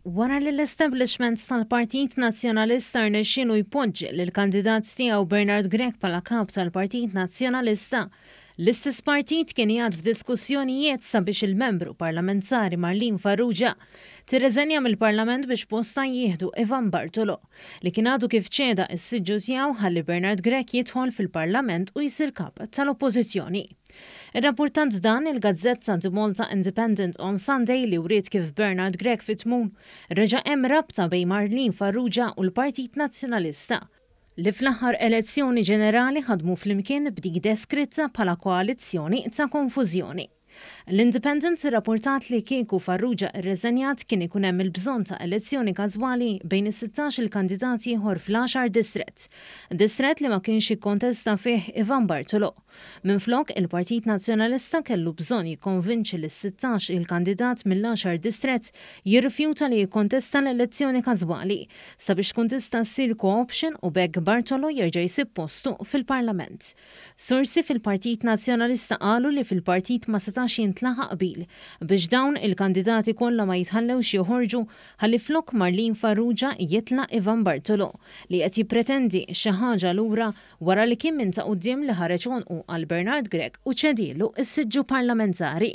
Wara li l-establishment tal-Partit Nazzjonalista rnexxielu jpoġġi lill-kandidat tiegħu Bernard Grech bħala kap tal-Partit Nazzjonalista, l-istess partit kien qiegħed f'diskussjonijiet sabiex il-membru parlamentari Marlene Farrugia tirreżenja mill-Parlament biex postha jieħdu Ivan Bartolo, li kien għadu kif ċeda s-siġġu tiegħu ħalli Bernard Grech jidħol fil-Parlament u jsir kap tal-Oppożizzjoni. Irrappurtat dan il-gazzetta The Malta Independent on Sunday li wriet kif Bernard Grech fit-tmun reġa' hemm rabta bejn Marlene Farrugia u l-Partit Nazzjonalista, li fl-aħħar elezzjoni ġenerali ħadmu flimkien b'dik deskritta bħala koalizzjoni ta' konfużjoni. L-Independent irrappurtat li kieku Farrugia rreżenjat kien ikun hemm il-bżonn ta' elezzjoni każwali bejn is-sittax-il kandidat ieħor fl-għaxar distrett. Distrett li ma kienx jikkontesta fih Ivan Bartolo. Minflok, il-Partit Nazzjonalista kellu bżonn jikkonvinċi lis-sittax il-kandidat mill-għaxar distrett jirrifjuta li jikkontesta l-elezzjoni każwali, sabiex tkun tista' ssir co-option u b'hekk Bartolo jerġa' jsib postu fil-Parlament. Sorsi fil-Partit Nazzjonalista qalu li fil-partit ma setax jintlaħaq qbil biex dawn il-kandidati kollha ma jitħallewx joħorġu ħalli flok Marlene Farrugia jitla' Ivan Bartolo li qed jippretendi xi ħaġa lura wara li kien minn ta' quddiem li ħareġ għonqu għal Bernard Grech u ċedielu s-siġġu parlamentari.